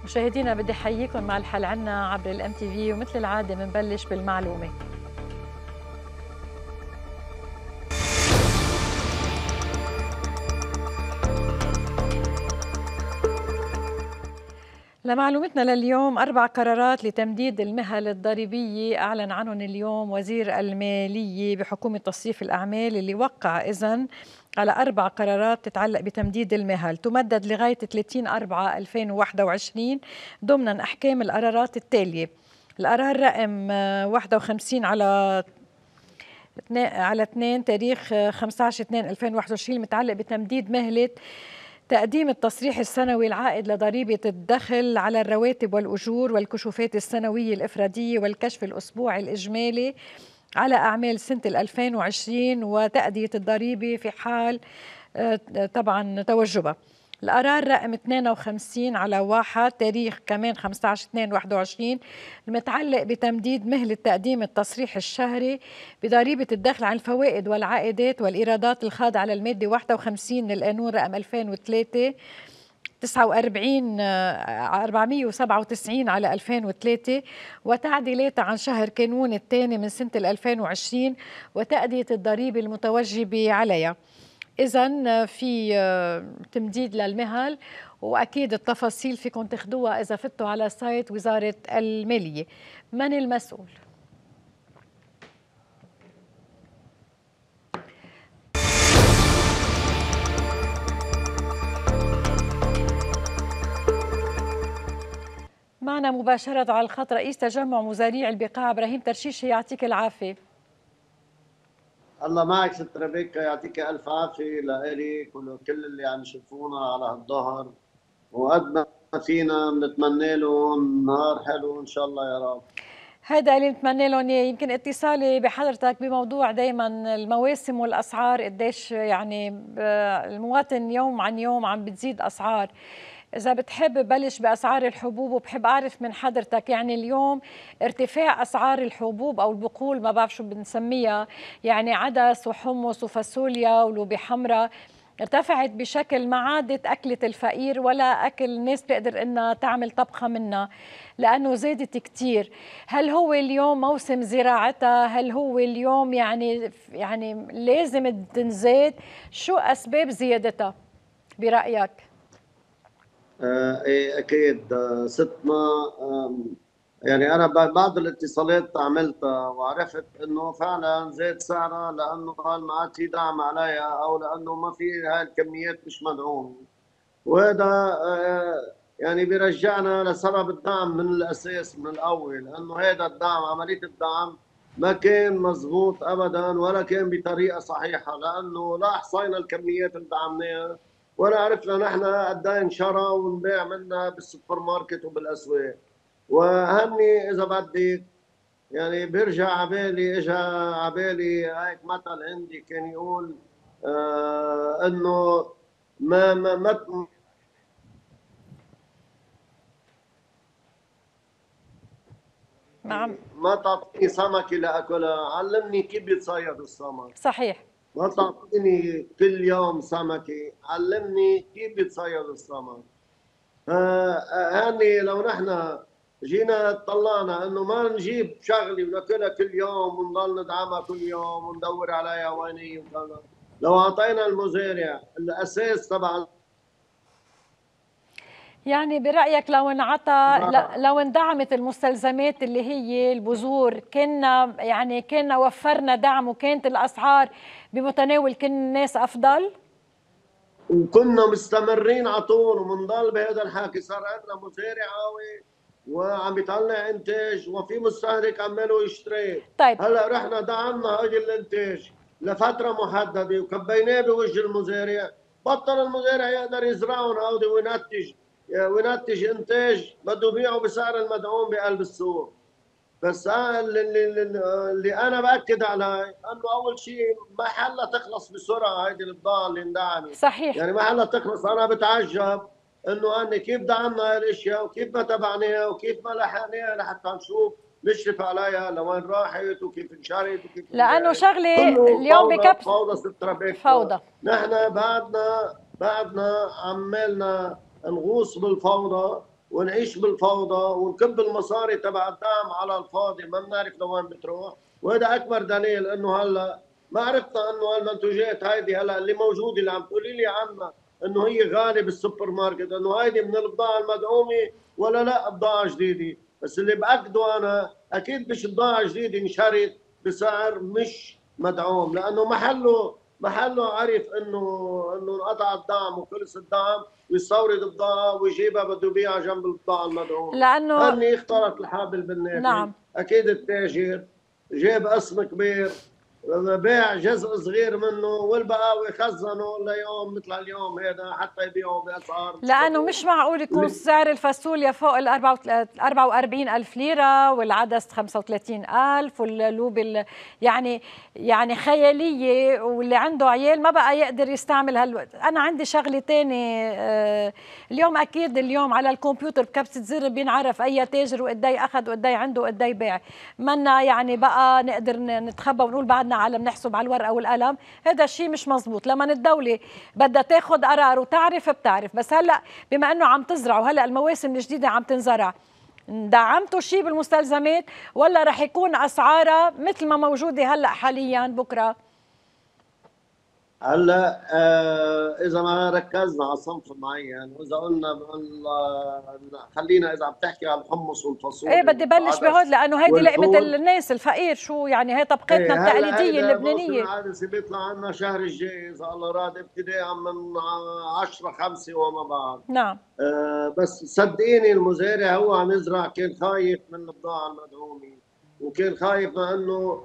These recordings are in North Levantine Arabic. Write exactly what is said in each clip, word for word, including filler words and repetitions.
مشاهدينا بدي احييكم مع الحل عنا عبر الام تي في، ومثل العاده بنبلش بالمعلومه. لمعلومتنا لليوم، أربع قرارات لتمديد المهل الضريبية أعلن عنهم اليوم وزير المالية بحكومة تصريف الأعمال، اللي وقع إذن على أربع قرارات تتعلق بتمديد المهل تمدد لغاية ثلاثين أربعة ألفين وواحد وعشرين ضمن أحكام القرارات التالية. القرار رقم واحد وخمسين على على اثنين تاريخ خمسة عشر اثنين ألفين وواحد وعشرين المتعلق بتمديد مهلة تقديم التصريح السنوي العائد لضريبة الدخل على الرواتب والأجور والكشوفات السنوية الإفرادية والكشف الأسبوعي الإجمالي على أعمال سنة ألفين وعشرين وتأدية الضريبة في حال طبعا توجبها. القرار رقم اثنين وخمسين على واحد تاريخ كمان خمسة عشر اثنين واحد وعشرين المتعلق بتمديد مهلة تقديم التصريح الشهري بضريبة الدخل عن الفوائد والعائدات والإيرادات الخاضعة على المادة واحد وخمسين من القانون رقم ألفين وثلاثة تسعة وأربعين أربعمئة وسبعة وتسعين على ألفين وثلاثة وتعديلات عن شهر كانون الثاني من سنة ألفين وعشرين وتأدية الضريبة المتوجبة عليها. إذن في تمديد للمهل، وأكيد التفاصيل فيكم تاخدوها إذا فتوا على سايت وزارة المالية. من المسؤول؟ معنا مباشرة على الخط رئيس تجمع مزارعي البقاع إبراهيم ترشيشي، يعطيك العافية. الله معك ست ربيكا، يعطيك الف عافيه لإلك ولكل اللي عم يشوفونا على هالظهر، وقد ما فينا بنتمنى لهم نهار حلو ان شاء الله يا رب. هذا اللي نتمنى لهم. يمكن اتصالي بحضرتك بموضوع دائما المواسم والاسعار، قديش يعني المواطن يوم عن يوم عم بتزيد اسعار. إذا بتحب بلش بأسعار الحبوب، وبحب أعرف من حضرتك يعني اليوم ارتفاع أسعار الحبوب أو البقول، ما بعرف شو بنسميها، يعني عدس وحمص وفاصوليا ولوبي حمراء، ارتفعت بشكل ما عادت أكلة الفقير ولا أكل الناس تقدر إنها تعمل طبخة منها لأنه زادت كتير. هل هو اليوم موسم زراعتها؟ هل هو اليوم يعني يعني لازم تنزاد؟ شو أسباب زيادتها برأيك؟ آه ايه اكيد آه ستنا. آه يعني انا بعض الاتصالات عملتها وعرفت انه فعلا زاد سعرها لانه قال ما عاد في دعم عليها او لانه ما في هاي الكميات مش مدعومه، وهذا آه يعني بيرجعنا لسبب الدعم من الاساس من الاول، لانه هذا الدعم عمليه الدعم ما كان مزبوط ابدا ولا كان بطريقه صحيحه، لانه لا احصينا الكميات اللي دعمناها ولا عرفنا نحن قد ايه انشرى ونبيع منها بالسوبر ماركت وبالاسواق. وهني اذا بدك يعني بيرجع عبالي اجى عبالي هيك مثل عندي كان يقول آه انه ما ما ما نعم. ما تعطيني سمكه لاكلها، علمني كيف بيتصيد السمك. صحيح. ما تعطيني كل يوم سمكه، علمني كيف بيتصيد السمك. هاني لو نحن جينا طلعنا انه ما نجيب شغله وناكلها كل يوم ونضل ندعمها كل يوم وندور عليها وين هي وكذا، لو اعطينا المزارع الاساس تبع يعني برأيك لو انعطى لو اندعمت المستلزمات اللي هي البذور، كنا يعني كنا وفرنا دعم وكانت الاسعار بمتناول كل الناس افضل، وكنا مستمرين على طول وبنضل بهذا الحكي. صار عندنا مزارع قوي وعم بيطلع انتاج وفي مستهلك عماله يشتري. طيب هلا رحنا دعمنا هذا الانتاج لفتره محدده وكبيناه بوجه المزارع، بطل المزارع يقدر يزرعهم هودي وينتج وينتج انتاج بده يبيعه بسعر المدعوم بقلب السوق. بس اللي, اللي, اللي انا باكد عليه انه اول شيء ما حلها تخلص بسرعه هيدي البضاعه اللي اندعمت. صحيح. يعني ما حلها تخلص. انا بتعجب انه أنا كيف دعمنا هاي الاشياء وكيف ما تبعناها وكيف ما لحقناها لحتى نشوف نشرف عليها لوين راحت وكيف انشرت وكيف لانه شغله اليوم بكبس فوضى ست ربيك. فوضى. نحن بعدنا بعدنا عمالنا نغوص بالفوضى ونعيش بالفوضى ونكب المصاري تبع الدعم على الفاضي، ما بنعرف لوين بتروح. وهذا اكبر دليل انه هلا ما عرفنا انه المنتوجات هيدي هلا اللي موجوده اللي عم تقولي لي عنها انه هي غاليه بالسوبر ماركت، انه هيدي من البضاعه المدعومه ولا لا بضاعه جديده. بس اللي باكده انا اكيد مش بضاعه جديده انشرت بسعر مش مدعوم، لانه محله محله عرف انه انه انقطع الدعم وخلص الدعم ويستورد بضاعه ويجيبها بده يبيعها جنب البضاعه المدعومه. لانه هني اختلط الحابل بالنابل. نعم اكيد التاجر جاب قسم كبير بيع جزء صغير منه والبقاوي خزنوا ليوم مثل اليوم هذا حتى يبيعوا باسعار مش لانه مدعومه. مش معقول يكون سعر الفاصوليا فوق ال أربعة وأربعين ألف ليره والعدس خمسة وثلاثين ألف واللوب يعني يعني خياليه، واللي عنده عيال ما بقى يقدر يستعمل هالوقت. انا عندي شغله ثانيه، آه اليوم اكيد اليوم على الكمبيوتر بكبسه زر بينعرف اي تاجر وقد ايه اخذ وقد ايه عنده وقد ايه باع. منا يعني بقى نقدر نتخبى ونقول بعدنا عالم نحسب على الورقه والقلم. هذا الشيء مش مزبوط. لما الدوله بدها تاخذ قرار وتعرف بتعرف. بس هلا بما انه عم تزرعوا هلا المواسم الجديده عم تنزرع، دعمتوا شيء بالمستلزمات ولا رح يكون اسعارها مثل ما موجوده هلا حاليا بكره؟ هلا آه اذا ما ركزنا على صنف معين واذا قلنا خلينا اذا عم تحكي على الحمص والفاصوليا ايه بدي بلش بهود لانه هيدي لقمه الناس الفقير، شو يعني هي طبقتنا ايه التقليديه هلا موسم اللبنانيه. العدسه بيطلع عنا شهر الجاي اذا الله راد ابتداء من عشرة خمسة وما بعد. نعم آه بس صدقيني المزارع هو عم يزرع كان خايف من البضاعه المدعومه وكان خايف من انه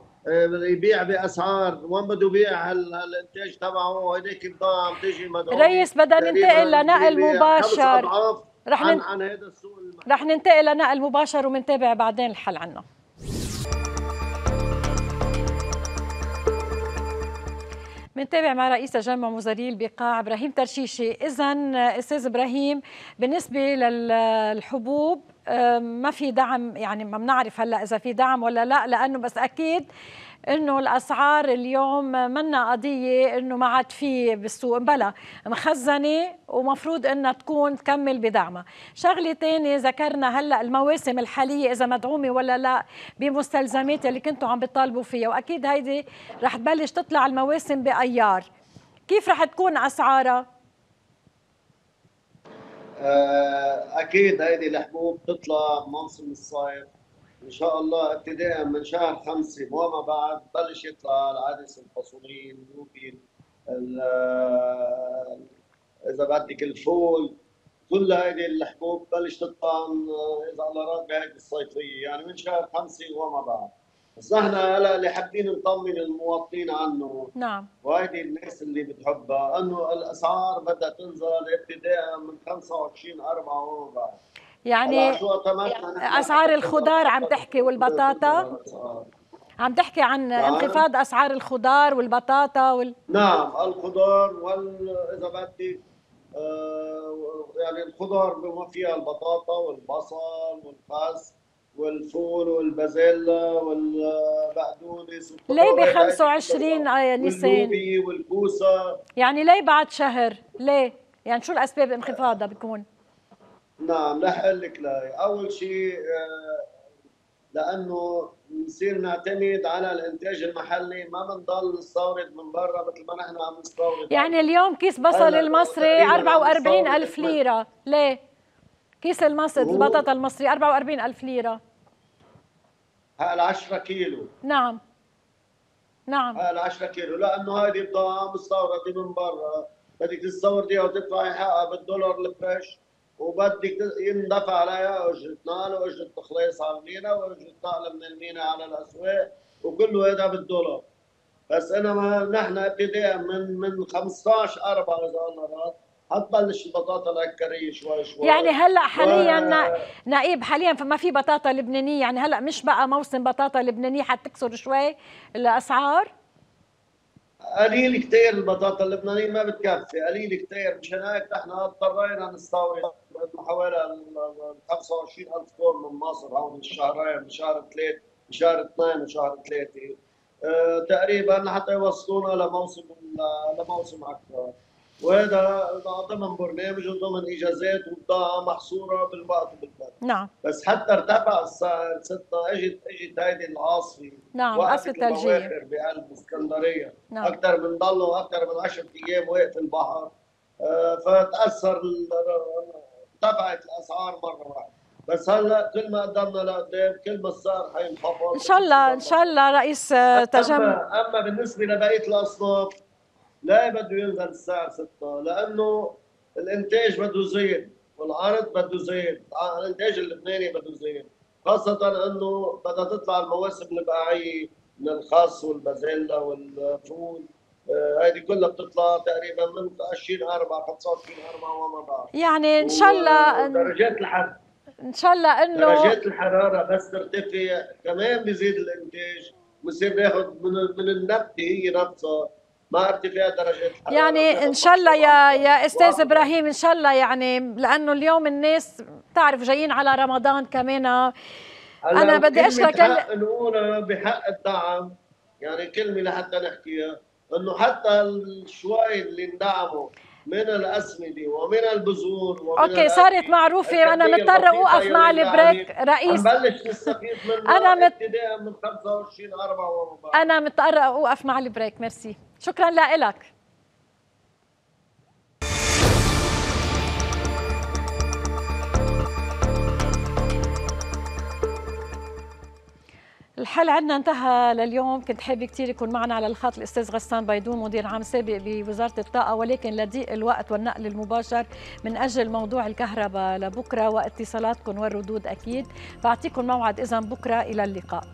يبيع باسعار وين بده يبيع هالانتاج تبعه. هيديك البضاعه عم تيجي مدعومه. ريس بدنا ننتقل لنقل مباشر. رح عن, عن هذا السوق المحلي. رح ننتقل لنقل مباشر ومنتابع بعدين الحل عنه. منتابع مع رئيس تجمع مزارعي البقاع ابراهيم ترشيشي. اذا استاذ ابراهيم بالنسبه للحبوب ما في دعم، يعني ما بنعرف هلا اذا في دعم ولا لا، لانه بس اكيد انه الاسعار اليوم منا قضيه انه ما عاد في بالسوق، بلا مخزنه ومفروض انها تكون تكمل بدعمها. شغله ثانيه ذكرنا هلا المواسم الحاليه اذا مدعومه ولا لا بمستلزمات اللي كنتوا عم بتطالبوا فيها، واكيد هيدي رح تبلش تطلع المواسم بايار. كيف رح تكون اسعارها؟ اكيد هيدي الحبوب تطلع موسم الصيف ان شاء الله ابتداء من شهر خمسة وما بعد بلش يطلع العدس الفاصوليا اللوبي اذا بدك الفول. كل هذه الحبوب بلش تطلع اذا الله راد بهيك الصيفيه يعني من شهر خمسة وما بعد. بس نحن هلا اللي حابين نطمن المواطنين عنه نعم وهيدي الناس اللي بتحبها انه الاسعار بدها تنزل ابتداء من خمسة وعشرين أربعة وما بعد. يعني اسعار الخضار عم تحكي والبطاطا، عم تحكي عن انخفاض اسعار الخضار والبطاطا وال... نعم الخضار وال اذا بدك آه يعني الخضار بما فيها البطاطا والبصل والخس والفول والبازيلا والبقدونس. ليه ب خمسة وعشرين نيسان؟ واللوبي والكوسه. يعني ليه بعد شهر؟ ليه؟ يعني شو الاسباب انخفاضها بتكون؟ نعم رح اقول لك ليه. اول شيء لانه بنصير نعتمد على الانتاج المحلي، ما بنضل نستورد من برا مثل ما نحن عم نستورد. يعني اليوم كيس بصل المصري أربعة وأربعين ألف ليره، ليه؟ كيس المصري البطاطا المصري أربعة وأربعين ألف ليره. هال عشرة كيلو. نعم نعم هال عشرة كيلو لانه هذه بضاعه مستورده من برا، بدك تستورديها وتدفعي حقها بالدولار الفريش وبدك يندفع عليها اجره نقل واجره تخليص على المينا واجره نقل من المينا على الاسواق وكله هذا بالدولار. بس انما نحن ابتداء من من خمسطعش أربعة اذا الله راد حتبلش البطاطا العكريه شوي شوي. يعني هلا حاليا و... نائب حاليا فما في بطاطا لبنانيه، يعني هلا مش بقى موسم بطاطا لبنانيه حتكسر شوي الاسعار؟ قليل كثير البطاطا اللبنانيه ما بتكفي، قليل كثير. مشان هيك نحن اضطرينا نستورد حوالي خمسة وعشرين ألف طن من مصر هون بالشهرين، بشهر ثلاث بشهر اثنين وشهر ثلاثه. أه تقريبا حتى يوصلونا لموسم لموسم اكثر. وهذا ضمن برنامج وضمن اجازات وبضاعه محصوره بالوقت وبالبلد. نعم. بس حتى ارتفع السعر ستة اجت اجت هيدي العاصفه. نعم وقفت عاصفة ثلجية بقلب اسكندريه. نعم. اكثر من ضلوا اكثر من عشرة ايام واقف البحر. آه فتاثر ارتفعت الاسعار مره واحده. بس هلا كل ما قدمنا لقدام كل ما السعر حينخفض ان شاء الله ان شاء الله رئيس تجمع. اما اما بالنسبه لبقيه الاصناف لا بده ينزل السعر ستة لانه الانتاج بده يزيد والعرض بده يزيد، الانتاج اللبناني بده يزيد، خاصة انه بدها تطلع المواسم البقعية من الخس والبازيلا والفول، هذه آه كلها بتطلع تقريبا من عشرين أربعة خمسة وعشرين أربعة وما بعد. يعني ان شاء الله درجات الحرارة ان شاء الله انه درجات الحرارة بس ترتفع كمان بيزيد الانتاج، بصير ناخذ من من النبتة هي نفسها مع ارتفاع درجات الحراره. يعني ان شاء الله يا يا استاذ ابراهيم ان شاء الله، يعني لانه اليوم الناس بتعرف جايين على رمضان كمان. انا بدي اشكرك حق نقولها بحق الدعم، يعني كلمه لحتى نحكيها انه حتى الشوي اللي اندعموا من الاسمده ومن البذور ومن اوكي صارت معروفه. انا مضطره اوقف مع البريك رئيس. نبلش نستفيد منها انا مت... ابتداء من خمسة وعشرين أربعة وما بعد. انا مضطره اوقف مع البريك. ميرسي، شكرا لك. الحل عندنا انتهى لليوم. كنت حابة كثير يكون معنا على الخط الأستاذ غسان بيدون مدير عام سابق بوزارة الطاقة، ولكن لضيق الوقت والنقل المباشر من أجل موضوع الكهرباء لبكرة واتصالاتكم والردود أكيد. بعطيكم موعد إذن بكرة. إلى اللقاء.